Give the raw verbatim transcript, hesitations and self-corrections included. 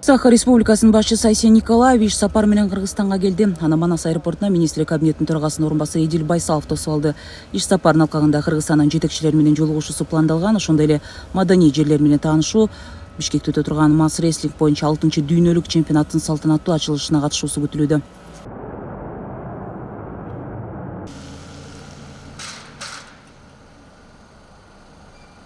Саха Республикасынын башчысы Айсен Николаев иш сапар менен Кыргызстанга келди. Аны Манас аэропортуна министрлер кабинетинин төрагасынын орун басары Эдил Байсалов тосуп алды. Иш сапардын алкагында Кыргызстандын жетекчилери менен жолугушуусу пландалган, ошондой эле маданий жерлер менен таанышуу, Бишкекте өтө турган масс рестлинг боюнча алтынчы дүйнөлүк чемпионаттын салтанаттуу ачылышына катышуусу күтүлүүдө.